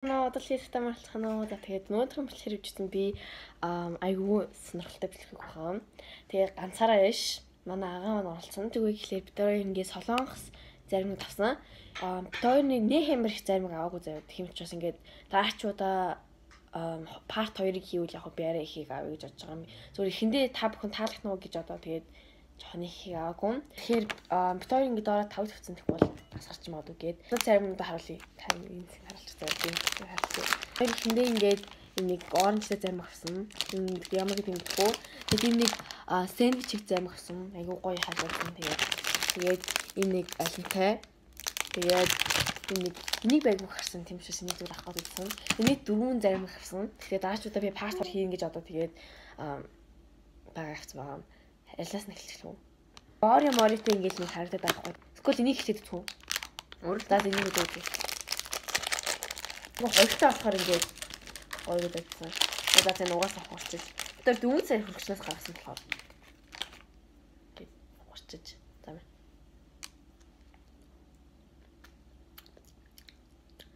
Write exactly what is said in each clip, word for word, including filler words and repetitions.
Ноо одоо л хэрэгтэй марлахнаа. За тэгээд өнөөдрийн бэлтгэр хөвчтөнд би айгүй сонирхолтой бэлтгэх байгаа. Тэгээд ганцаараа биш. Манай агаа маань оролцсон. Тэгвэл ихлээр бид хоёр ингээд солонгос заримыг тавсан. Аа бид хоёрны нэг хэмэр их заримыг аваагүй заяа. Тэгм учраас ингээд даачуудаа парт хоёрыг хийвэл яг би арай ихийг авъя гэж бодож байгаа юм. Зүгээр эхэндээ та бүхэн таалах нь уу гэж одоо тэгээд жоохон ихийг аваагүй. Тэгэхээр бид хоёр ингээд ороо тав тавьсан гэх бол асарч магадгүй гээд. Одоо заримдаа харуулъя. Та энэ зэг харуулчих заяа. Харуулъя. Тэр эхэндээ ингээд нэг оранжтай зарим авсан. Энэ ямар гэдэг юм бэ? Тэгээд энэ нэг сэндвич чиг зарим авсан. Айгуу гоё хаалгасан. Тэгээд тэгээд энэ нэг алинтай. Тэгээд энэ нэг нэг байг гарсан тийм учраас энийг зүгээр авах гэсэн. Эний дөрвөн зарим гарсан. Тэгэхээр даачудаа би паспорт хийн гэж одоо тэгээд байгаа авсан байгаа. Ялаас нь эхэлчих үү? Ори моритой ингээд нэг харагдаад байхгүй. Эсвэл энийг хэлээд зү. Өөр даа энийг үзээ. Нөгөө хоёртой болохоор ингээд гоё байдсан. Одоо зэн угаасаа хурцж. Тэр дөрвөн сая хөргчнөөс гаргасан болохоор. Ингээд хурцж. За мэ.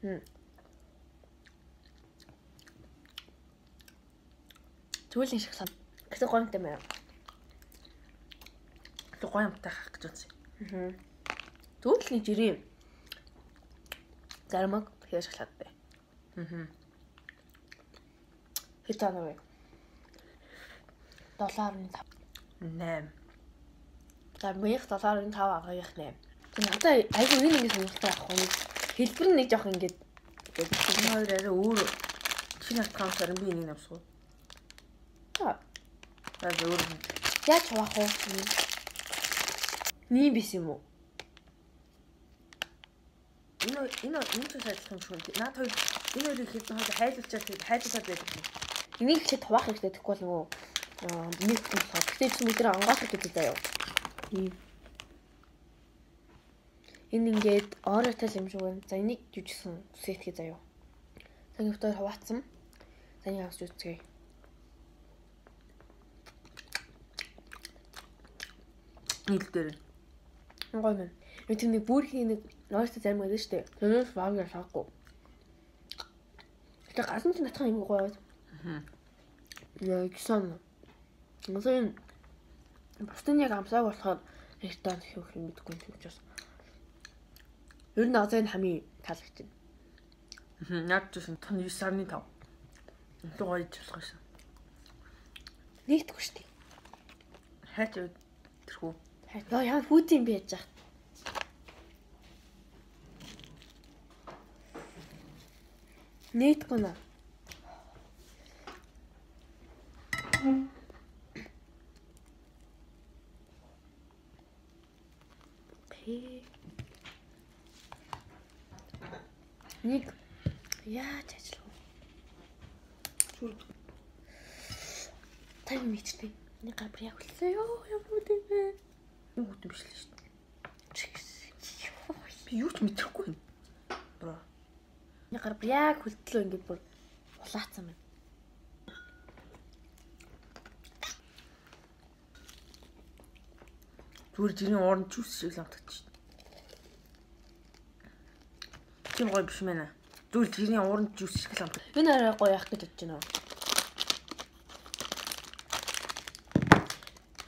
Хм. Түлийн шиг сан. Гэсэн гонтой маяг. Гоё юмтай хах гэж үзье. Аа. Түлхний жирийн заримаг хийж шалгадтай. Аа. Хэд тань вэ? долларын тав. найман. За мянга долларын тав агаарх найман. Тэгээ надаа айгүй энэ ингэ сонирхолтой авах юм. Хэлбэр нь нэг жоох ингэж энэ хоёр арай өөр шинэ аккаунтаар би энийг авсуу. За. За өөр яаж хавах вэ? Ним биш юм уу? Энэ энэ энэ ч сайжлах юм шиг. Наад хоёр энэ хоёрыг хэдэн хойд хайлуулчаад тэгээд хайлуулаад байдаг юм. Энийг ч хуваах хэрэгтэй тэгэхгүй бол нөгөө нэг болохоор. Гэтэ чи өдөр ангаахад гэдэг заяа. Ийм. Энэ ингээд ороотой юм шиг байна. За энийг жүжигсэн сетгээ заяа. За энэ хоёр хуваацсан. За энийг авч үзье. Ил дээр. Гоё юм. Энэ тийм нэг бүрхийн нэг ноёстой зарим байдаг шүү дээ. Тэрнээс баг ясаагүй. Тэгээ гасан ч натхан юм гоё. Аа. Яа гисэн. මොකද бусдын яг амсааг болохоор ихтэй хийх юм гэдэггүй юм учраас. Ер нь азаа хамгийн таалагдчих. Аа. Яг тийм тань девять сарны тав. Үнэхээр гоё болох шээ. Нэгтгэв шүү дээ. Хайч тэрхүү. Хайч. Яа хүүтийн би яаж яах. Нийтгүй наа. Нэг яаж ажиллах вэ? Зүрх. Тань мэдтэй. Нэг габр яг үлээ ёо ямар үгүй бэ? Юу үгүй биш л шүү дээ. Би юу ч мэдрэхгүй юм. Бро. Нэг габр яг хөлтлөө ингээд бүр улаацсан байна. Зүгээр жирийн оранж жуус шиг л амтагч. Тийм гоё биш мэнэ. Зүгээр жирийн оранж жуус шиг л амтаг. Энэ арай гоё яах гэж бодож байна.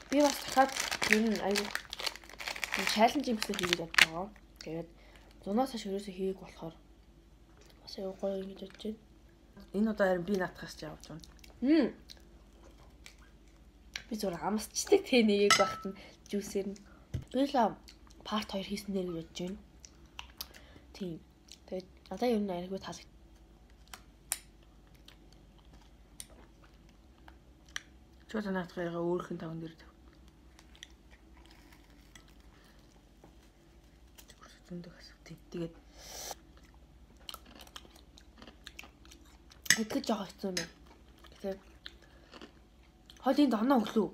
Би бас дахиад энэ аюу чаленж юм шиг хийгээд байгаа. Тэгээд зунаас хойш өрөөсөө хийгээг болохоор бас аюу гоё ингэж бодож байна. Энэ удаа харин би наатахаас ч явж байна. Хм. Би зур амсчдаг те нэгийг багт нь жүүсээр нь. Би л парт хоёр хийсэн нэр гэж бодож байна. Тийм. Тэгээд надаа ер нь айгүй таалагд. Чөлөө наатахыгаа өөрхөн таван дээр тав. Зөндөг асах тийм. Тэгээд итгэж жоох хэцүү юм байна. Тэгээд хол энд оноо өглөө.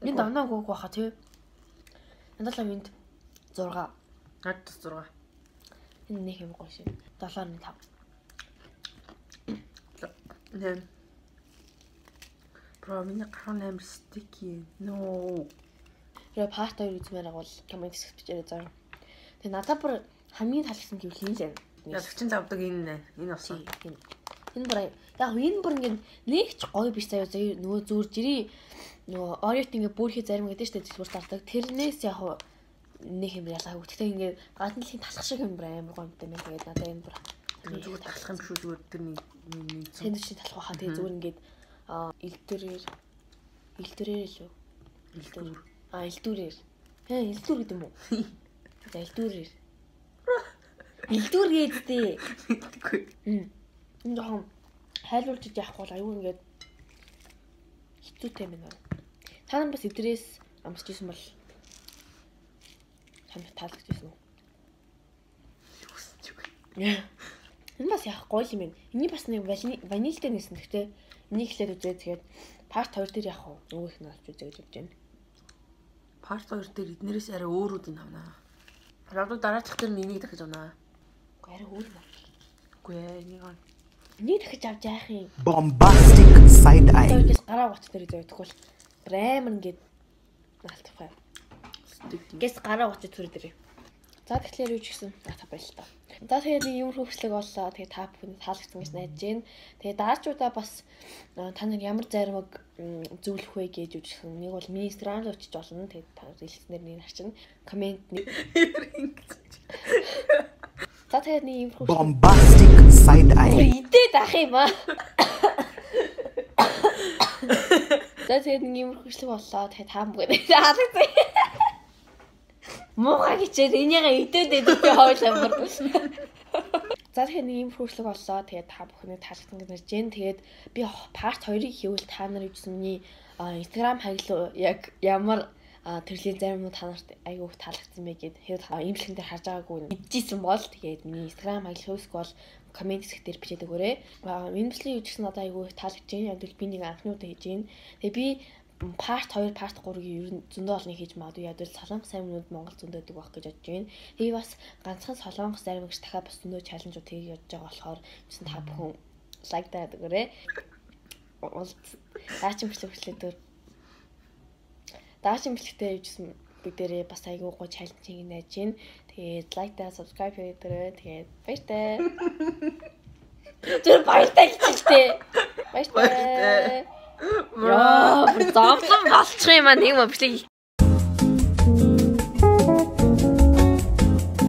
Энд оноо өгөх байхаа тий. Надад л энд зураг. Надад зураг. Энэ нэг юм гоё шээ. долларын тав. Нэ. Бро миний гарах амар стики. No. Я парт хоёр үзмээр агуул коммент хийх бичээрэй заа. Тэгээ надад бүр хамгийн таалагдсан гэвэл хин л байна. Тэднээс. Ягчин завдаг энэ энэ болсон. Энэ бүр яг энэ бүр ингээд нэг ч гоё биш заяа заяа нөгөө зүгээр жирий нөгөө Ориот ингээд бүрхий зарим гэдэг штэ дэлгүүр зардаг. Тэрнээс яг нэг юм ялгаагүй. Гэхдээ ингээд гаднaalын талах шиг юм бүр амар гоё юм байна. Тэгээд надад энэ бүр зүгээр талах юм биш үү зүгээр тэр нэг нэг сэндвичний талах байхаа тэгээд зүгээр ингээд элдвэрээр элдвэрээр л үү? Элдвэр. А элдвэрээр. Хэ элдвэр гэдэг юм уу? За элдвэрээр. Элдвэр гэдээ. Мэдгүй. Хм. Энэ жоохон хайлуулж яахгүй бол аюу ингээд хэцүүтэй байна. Та нар бас эдрээс амсч ирсэн бол чамд таалагдж ирсэн үү? Энэ бас яах гоё юм бэ? Эний бас нэг ванильтай нэсэн гэхдээ энийг хэлээд үзээ тэгээд парт хоёр дээр яах вэ? Нөгөө их нь олж үзээ гэж бодож байна. Парт хоёр дээр эднэрээс арай өөрүүд нь авнаа. Радуу дараачих дээр энийг дахиж авнаа. Арай өөр юм. Үгүй ээ энийг аа. Энийг дахиж авч яах юм? Bombastic side eye. Тэгээс гараа гоц дээр зөө тэгвэл амар ингээд наалтах юм. Гэс гараа гоц төр дээр. За тэгэхээр юу ч гэсэн та баяр л та. За тэгээд нэг юм хөвчлөг боллоо. Тэгээд та бүхэнд таалагдсан гэж найдаж байна. Тэгээд дараачудаа бас та нар ямар заримыг зөвлөх вэ гэж юу ч гэсэн нэг бол миний Instagram руу очиж болно. Тэгээд та хэлснээр нэг харчин комент нэг За тэгээд нэг юм хөвчлөг Bombastic side eye. Идээд ах юм аа. За тэгээд нэг юм хөвчлөг боллоо. Тэгээд та бүхэнд таалагдсан. Муухай гэчээр энийгээ идээд идэх хоол амар. За тэгэхээр нэг юм хөршлөг боллоо. Тэгээд та бүхэнд таалагдсан гэж ярьж байна. Тэгээд би парт хоёрыг хийвэл та нар юусны Instagram хаягл яг ямар төрлийн зарим нь та нарт айгүй их таалагдсан бэ гэд хэрэг имлэгэн дээр харж байгаагүй мэдчихсэн бол тэгээд миний Instagram хаягл хөөсг бол комент хэсэг дээр бичээд өгөөрэй. Энэ бичлэгийн юу ч гэсэн надад айгүй их таалагдж байна. Яг л би нэг анхнуудаа хийж байна. Тэгээд би парт хоёр, парт гурыг ер нь зөндөө олныг хийж магадгүй ядвал солонгос аймагнууд Монгол зөндөөдөг байх гэж бодож байна. Тэгээ бас ганцхан солонгос зарим гэж дахиад бас зөндөө чаленжууд хийж явж байгаа болохоор гэсэн та бүхэн лайк даад өгөөрэй. Даачим бичлэг бичлэгээр Даачим бичлэгтэй хийжсэн бүгдээрээ бас айгүй гоо чаленжийг найж байна. Тэгээд лайк даа, subscribe хийдээрэй. Тэгээд баяртай. Тэр баяртай хийчихтэй. Баяртай. Яа, зовлон болчих юм аа нэг юм бичлэг